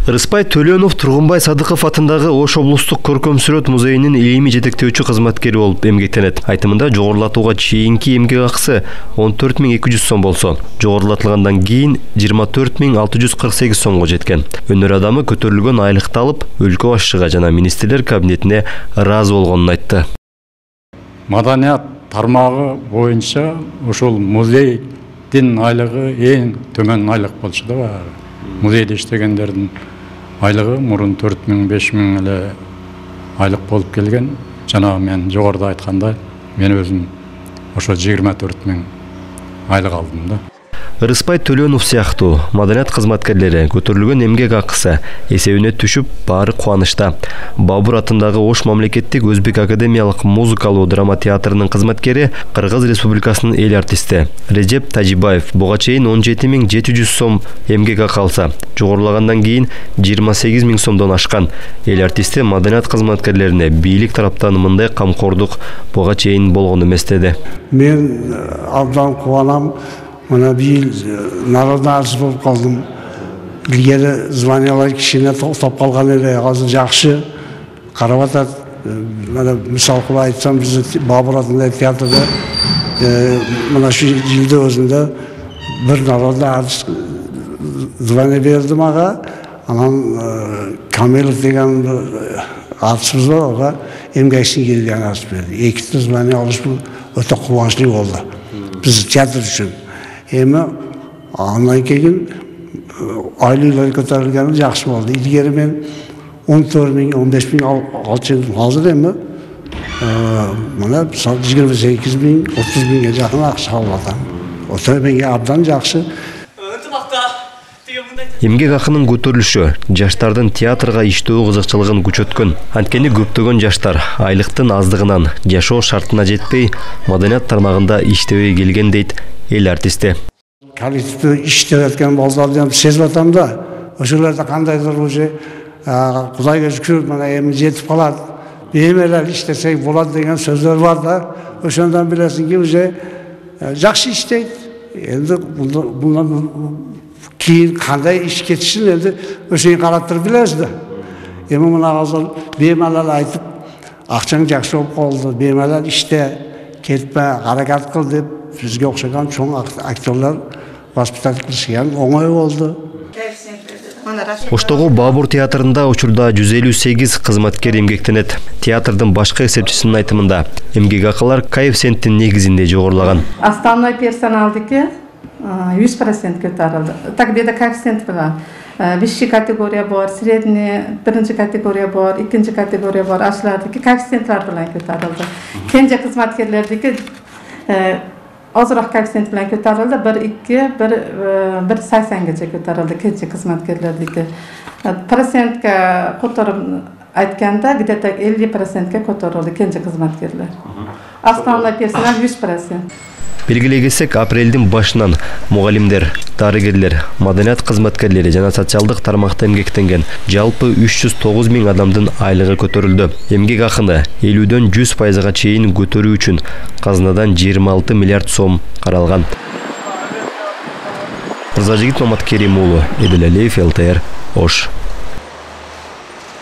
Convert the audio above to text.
Рыспай Төлөнов Тургунбай Садыков атындагы Ош облустук көркөм сүрөт музейинин илимий жетектөөчү кызматкери болуп эмгектенет. Айтымында жогорулатууга чейинки эмгек акысы 14.200 сом болсо, жогорулатылгандан кийин 24.648 сомго жеткен. Өнөр адамы көтөрүлгөн айлыкты алып, өлкө башчыга жана министрлер кабинетине ыраазы болгонун айтты. Маданият тармагы боюнча ошол музейдин айлыгы эң төмөн айлык болчу да. Музейде иштегендердин айлыгы мурун 4.000–5.000 эле айлык болуп келген. Жана мен жогоруда айткандай, мен өзүм ошо 24.000 айлык алдым да. Рыспай Төлөнов сыяктуу маданият кызматкерлери көтөрүлгөн эмгек акысы эсебине түшүп, баары кубанычта. Бабур атындагы Ош мамлекеттик өзбек академиялык музыкалуу драма театрынын кызматкери Кыргыз Республикасынын эл артисти Режеп Тажибаев буга чейин 17.700 сом эмгек акы алса, жогорулагандан кийин 28.000 сомдон ашкан. Эл артисти маданият кызматкерлерине бийлик тараптан мындай камкордук буга чейин болгон эмес деди. Мен абдан кубанам. Мына бийил народный артист болуп калдым. Илгери званиялар кичине токтоп калган эле, азыр жакшы карап атат. Мына мисал кылып айтсам, биз Бабур атындагы театрда мына шу жылдын өзүндө бир народный артист звание берди мага. Анан Камилов деген артистибиз бар, ага эмгек сиңирген артист берди. Эки звание алыш бул өтө кубанычтуу болду биз театр үчүн. Эми андан кийин айлыктар көтөрүлгөнү жакшы болду. Илгери мен 14.000–15.000 алчу, азыр эми мына 28.000–30.000 жакын акча алып атам. Ошо менге абдан жакшы. Эмгек акынын көтөрүлүшү жаштардын театрга иштөө кызыкчылыгын күчөткөн. Анткени көптөгөн жаштар айлыктын аздыгынан жашоо шартына жетпей, маданият тармагында иштебей келген дейт эл артисти. Коллективде иштеп аткан балдарды сезип атам да. Ошолордо кандайдыр уже Кудайга шүкүр, мына эми жетип калат. Бемелер иштесек болот деген сөздөр бар да. Ошондон билесиңки уже жакшы иштейт. Эndi bundan кийин кандай иш кетишин эndi ошону карап туруп билебиз да. Эми мына азыр бемалал айтып, акчаң жакшы болуп калды, бемалал иште, кетпе, аракет кыл деп бизге окшогон чоң актерлар воспитать кылышкан, оңой болду. Оштогу Бабур театрында учурда 158 кызматкер эмгектенет. Театрдын башкы эсепчисинин айтымында, эмгек акылар коэффициенттин негизинде жогорулаган. Основной персоналдыки 100% көтөрүлдү. Так беде коэффициент бар. Бишинчи категория бар, средний, биринчи категория бар, экинчи категория бар. Ашлардыки коэффициенттер менен көтөрүлдү. Кенже кызматкерлердики азыраак коэффициент менен көтөрүлдү. 1,80-гече көтөрүлдү кенже кызматкерлердики. Процентке которуп айтканда, где-то 50%ке көтөрүлдү кенже кызматкерлер. Основной персонал 100%. Белгилей кетсек, апрелдин башынан мугалимдер, дарыгерлер, маданият кызматкерлери жана социалдык тармакта эмгектенген жалпы 309.000 адамдын айлыгы көтөрүлдү. Эмгек акыны 50–дөн 100%га чейин көтөрүү үчүн казынадан 26 миллиард сом каралган. Мырзажигит Маматкерим уулу, Эдил Алиев, ЛТР, Ош.